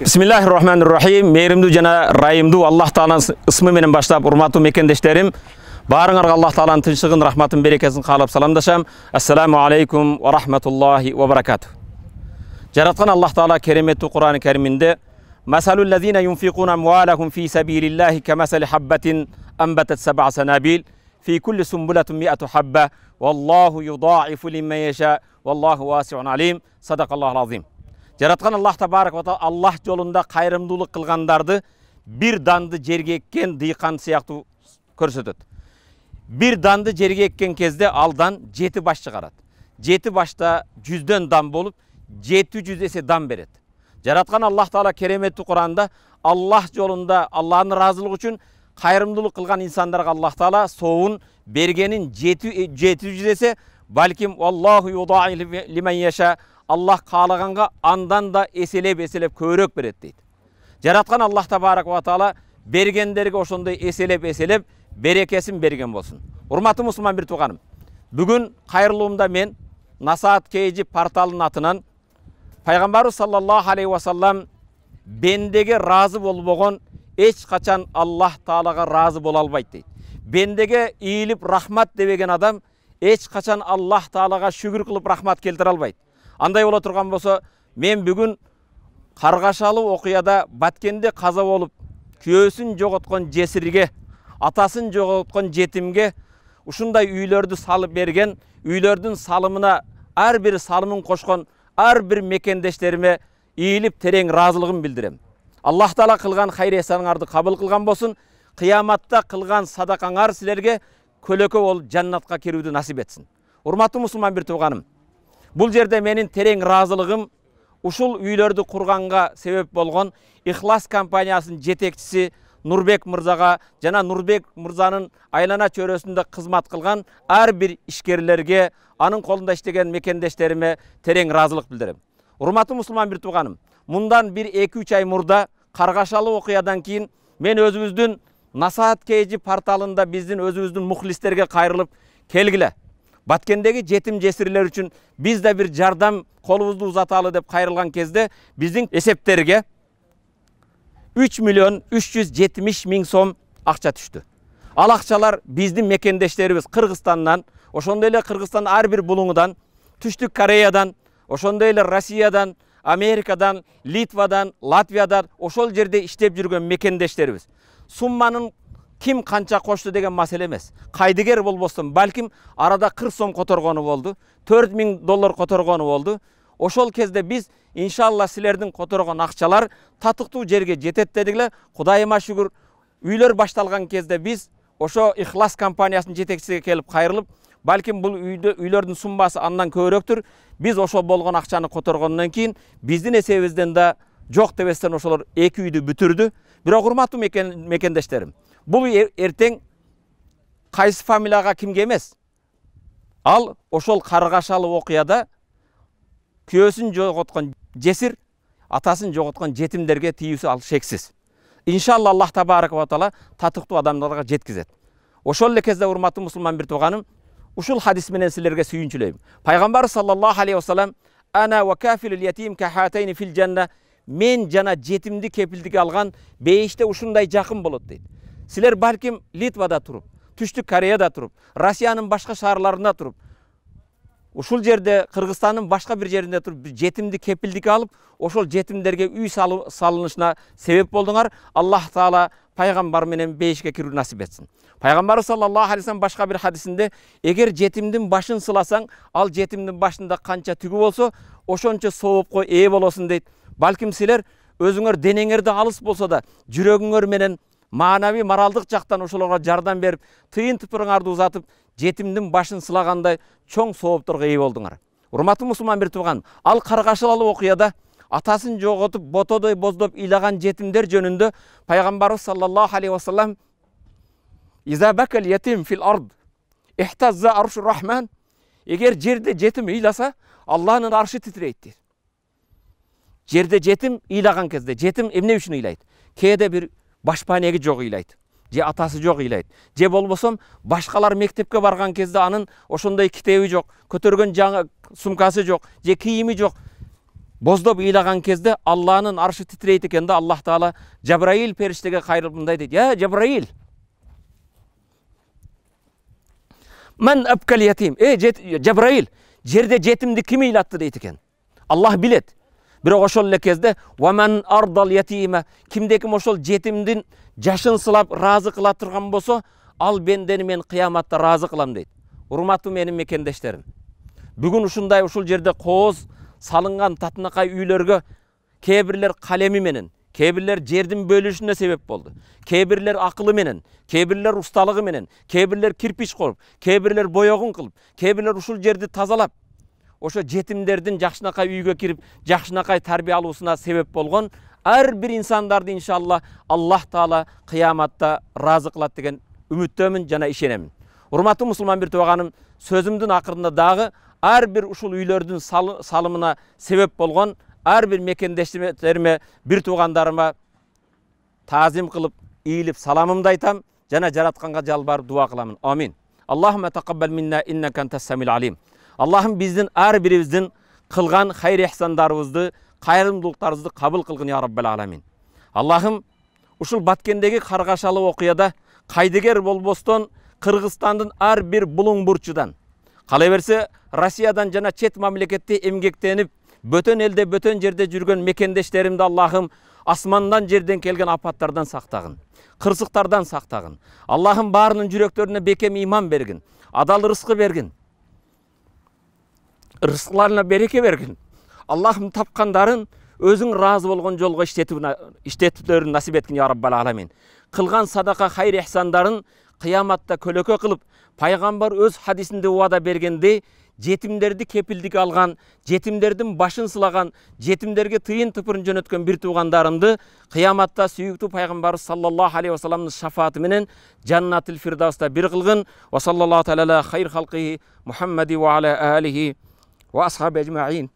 Bismillahirrahmanirrahim. Meyrimdүү жана райымдуу Аллах Тааланын ысмы менен баштап, урматтуу мекендештерим, баарыңарга Аллах Тааланын тынчтыгын, рахматын, берекесин каалап саламдашам. Ассаламу алейкум ва рахматуллахи ва баракату. Жараткан Аллах Таала кереметтүү Кур'ан-ы Кариминде Масалул лазина юнфикуна амвалахум фи сабилиллахи камасали хаббатин амбатат саб'a санабил фи кулли сумбулатин ми'ату хабба валлаху юдаифу лиман яша валлаху васи'ун алим. Садакаллахул азим. Жараткан Аллах табарак ва таала Аллах жолунда кайрымдуулук кылгандарды бир данды жерге эккен дыйкан сыяктуу көрсөтөт. Бир данды жерге эккен кезде алдан 7 баш чыгарат. 7 башта 100дөн дан болуп 700 эсе дан берет. Жараткан Аллах Таала кереметтүү Кур'анда Аллах жолунда Аллахтын ыраазылыгы үчүн кайрымдуулук кылган инсандарга Аллах Таала соовун бергенин 700 эсе, балким Аллаху юдаифу лиман яша, Аллах каалаганга андан да эселеп көбүрөөк берет дейт. Жараткан Аллах табарак ва таала бергендерге ошондой эселеп берекесин берген болсун. Урматтуу мусулман бир тууганым, бүгүн кайрылуумда мен Насаат KG порталынын атынан Пайгамбарыбыз саллаллаху алейхи ва саллам бендеге разы болбогон эч качан Аллах Таалага разы боло албайт дейт. Бендеге ийилип рахмат дебеген адам эч качан Аллах Таалага шүгүр кылып рахмат келтире албайт. Андай боло турган болсо, мен бүгүн каргашалуу окуяда Баткенде каза болуп, күйөөсүн жоготкон жесирге, атасын жоготкон жетимге ушундай үйлөрдү салып берген, үйлөрдүн салымына ар бир салымын кошкон ар бир мекендештериме ийилип терең ыраазылыгын билдирем. Аллах Таала кылган хайыр эсаныңарды кабыл кылган болсун. Кыяматта кылган садакаңар силерге көлөкө болуп жаннатка кирүүнү насип этсин. Урматтуу мусулман бир тууганым, бул жерде менин терең ыраазылыгым ушул үйлөрдү курганга себеп болгон Ихлас компаниясынын жетекчиси Нурбек мырзага жана Нурбек мырзанын айлана чөйрөсүндө кызмат кылган ар бир ишкерлерге, анын колунда иштеген мекендештериме терең ыраазылык билдирем. Урматтуу мусулман бир тууганым, мындан 1-2-3 ай мурда каргашалуу окуядан кийин мен өзүбүздүн Насаат KG порталында биздин өзүбүздүн мухлистерге кайрылып келгиле. Баткендеги жетим жесирлер үчүн биз да бир жардам колубузду узаталы деп кайрылган кезде биздин эсептерге 3.370.000 сом акча түштү. Ал акчалар биздин мекендештерибиз Кыргызстандан, ошондой эле Кыргызстан ар бир булуңудан, Түштүк Кореядан, ошондой эле Россиядан, Америкадан, Литвадан, Латвиядан ошол жерде иштеп жүргөн мекендештерибиз. Сумманын ким канча кошту деген маселе эмес. Кайдыгер болбостон, балким арада 40 сом которгону болду, $4.000 которгону болду. Ошол кезде биз иншалла силердин которгон акчалар татыктуу жерге жетет дедикле. Кудайыма шүгүр, үйлөр башталган кезде биз ошо Ихлас компаниясынын жетекчисине келип кайрылып, балким бул үйлөрдүн суммасы андан көбүрөөктүр. Биз ошол болгон акчаны которгондон кийин биздин эсебибизден да жок дебестен ошолор 2 үйдү бүтүрдү. Бирок урматтуу мекендештерим, бул эртең кайсы фамилияга кимге эмес, ал ошол каргашалуу окуяда күйөөсүн жоготкон жесир, атасын жоготкон жетимдерге тийүүсү ал шексиз. Иншалла Аллах табарак ва таала татыктуу адамдарга жеткизет. Ошол эле кезде урматтуу мусулман бир тууганым, ушул хадис менен силерге сүйүнчүлөйм. Пайгамбар саллаллаху алейхи ва саллам ана ва кафилул ятим кахатайни фил жанна, мен жана жетимди кепилдикке алган бейиште ушундай жакын болот дейт. Силер балким Литвада туруп, Түштүк Кореяда туруп, Россиянын башка шаарларында туруп, ушул жерде Кыргызстандын башка бир жеринде туруп жетимди кепилдикке алып, ошол жетимдерге үй салынышына себеп болдуңар. Аллах Таала пайгамбар менен бейишке кирүү насип этсин. Пайгамбар саллаллаху алейхи ва саллам башка бир хадисинде эгер жетимдин башын сыласаң, ал жетимдин башында канча түгү болсо, ошончо соопко ээ болосуң дейт. Балким силер өзүңөр денеңерде алыс болсо да, жүрөгүңөр менен маанавий моралдык жактан ошолорго жардам берип, тыйын тыпырыңарды узатып, жетимдин башын сылагандай чоң соопторго ээ болдуңар. Урматтуу мусулман бир тууган, ал каргашалуу окуяда атасын жоготуп, ботодой боздоп ыйлаган жетимдер жөнүндө Пайгамбарыбыз саллаллаху алейхи ва саллам иза бакал ятим фил ард ихтазза аршур рахман, эгер жерде жетим ыйласа, Аллахтын аршы титирейт дейт. Жерде жетим ыйлаган кезде, жетим эмне үчүн ыйлайт? Кээде бир башпанеги жок ыйлайт, же атасы жок ыйлайт, же болбосом башкалар мектепке барган кезде анын ошондой китеби жок, көтөргөн жаңы сумкасы жок, же кийими жок. боздоп ыйлаган кезде Аллахнын аршы титрейт экен да, Аллах Таала Жабраил периштеге кайрылып мындай дейт: "Я Жабраил, мен абкал ятим". Жабраил, жерде жетимди ким ыйлатты дейт экен. Аллах билет. Бирок ошол эле кезде "Ва мен ардал ятима", кимде ким ошол жетимдин жашын сылап разы кыла турган болсо, ал бендени мен кыяматта разы кылам дейт. Урматтуу менин мекендештерим, бүгүн ушундай ушул жерде кооз салынган татынакай үйлөргө кээ бирлер калеми менен, кээ бирлер жердин бөлүшүнө себеп болду, кээ бирлер акылы менен, кээ бирлер усталыгы менен, кээ бирлер кирпич коруп, кээ бирлер боёгун кылып, кээ бирлер ушул жерди тазалап, ошо жетимдердин жакшынакай үйгө кирип, жакшынакай тарбия алуусуна себеп болгон ар бир инсандарды иншалла Аллах Таала кыяматта разы кылат деген үмүттөмүн жана ишенемин. Урматтуу мусулман бир тууганым, сөзүмдүн акырында дагы ар бир ушул үйлөрдүн салымына себеп болгон ар бир мекендештериме, бир туугандарыма таазим кылып, ийилип саламымды айтам жана жаратканга жалбарып дуа кыламын. Амин. Аллахумма тaqabbal minna innaka antas samil alim. Аллахым биздин ар бирибиздин кылган хайр ихсандарыбызды, кайрымдуулуктарыбызды кабыл кылгын я раббал аламин. Аллахым ушул Баткендеги каргашалуу окуяда кайдыгер болбостон Кыргызстандын ар бир булуң бурчудан, кала берсе Россиядан жана чет мамлекетте эмгектенип, бөтөн элде, бөтөн жерде жүргөн мекендештеримди Аллахым асмандан жерден келген апаттардан сактагын, кырсыктардан сактагын. Аллахым баарынын жүрөктөрүнө бекем иман бергин, адал рызкы бергин, рызкыларына береке бергин. Аллахым тапкандарын өзүң разы болгон жолго иштетүүлөрүн насип эткин я раббал аламин. Кылган садака хайр ихсандарын кыяматта көлөкө кылып, пайгамбар өз хадисинде убада бергендей, жетимдерди кепилдик алган, жетимдердин башын сылаган, жетимдерге тыйын тыпырын жөнөткөн бир туугандарымды кыяматта сүйүктүү пайгамбар саллаллаху алейхи ва салламдын шафааты менен Жаннатил Фирдавста бир кылгын. Ва саллаллаху таала хайр халқи Мухаммади ва аля алихи ва асхаби ажмаин.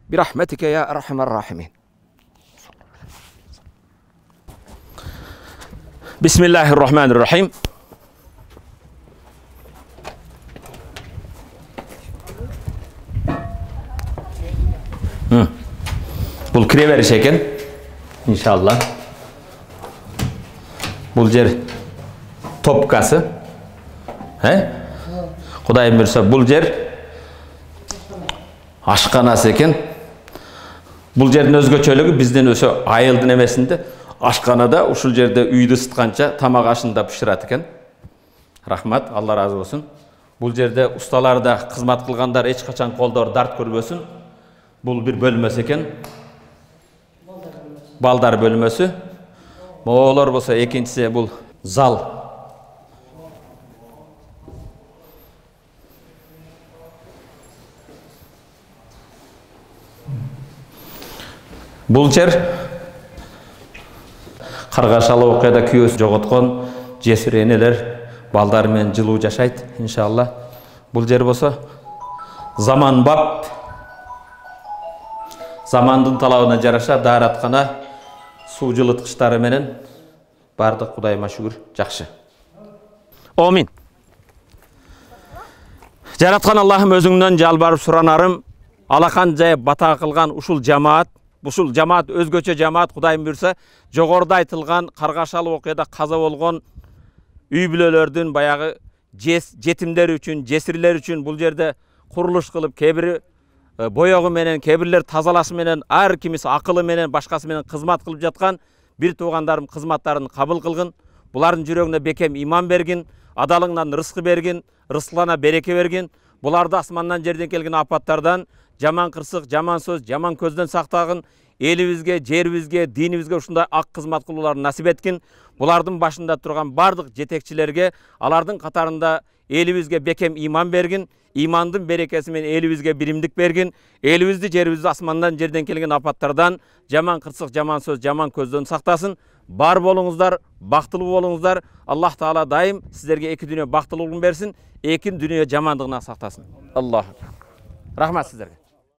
Бирахматика я архамар рахимин. Бисмиллахир рахманир рахим. Бул кире бериш экен, иншалла. Бул жер топкасы. Кудайым буйрса, бул жер ашканасы экен. Бул жердин өзгөчөлүгү биздин өсө айылдын эмесинде ашканада ушул жерде үйдү ысытканча тамак ашында пышырат экен. Рахмат, Алла разы болсун. Бул жерде усталар да, кызмат кылгандар эч качан колдор дарт көрбөсүн. Бул бир бөлмөсү экен. Балдар бөлмөсү. Моолор болсо экинчиси бул зал. Бул жер каргашалуу окуяда күйөөсүн жоготкон жесир энелер балдар менен жылуу жашайт иншалла. Бул жер болсо заманбап, замандын талабына жараша даараткана, суу жылыткычтары менен бардык Кудайыма шүгүр жакшы. Амин. Жараткан Аллахым өзүңдөн жалбарып суранарым, алакан жайып бата кылган ушул жамаат өзгөчө жамаат Кудайым буйрса, жогоруда айтылган каргашалуу окуяда каза болгон үй бүлөлөрдүн баягы жетимдер үчүн, жесирлер үчүн бул жерде курулуш кылып, кээ бири боёгу менен, кээ бирлер тазалашы менен, ар кимиси акылы менен, башкасы менен кызмат кылып жаткан бир туугандарым кызматтарын кабыл кылгын. Булардын жүрөгүнө бекем иман бергин, адалыңнан рызкы бергин, рызкыларына береке бергин. Буларды асмандан жерден келген апаттардан, жаман кырсык, жаман сөз, жаман көздөн сактагын. Элибизге, жерибизге, динибизге ушундай ак кызмат кылууларын насип эткин. Булардын башында турган бардык жетекчилерге, алардын катарында элибизге бекем иман бергин. Имандын берекеси менен элибизге биримдик бергин. Элибизди, жерибизди асмандан жерден келген апаттардан, жаман кырсык, жаман сөз, жаман көздөн сактасын. Бар болуңуздар, бактылуу болуңуздар. Аллах Таала дайым сиздерге эки дүйнө бактылуулугун берсин, эки дүйнө жамандыгынан сактасын. Аллах. Рахмат сиздерге.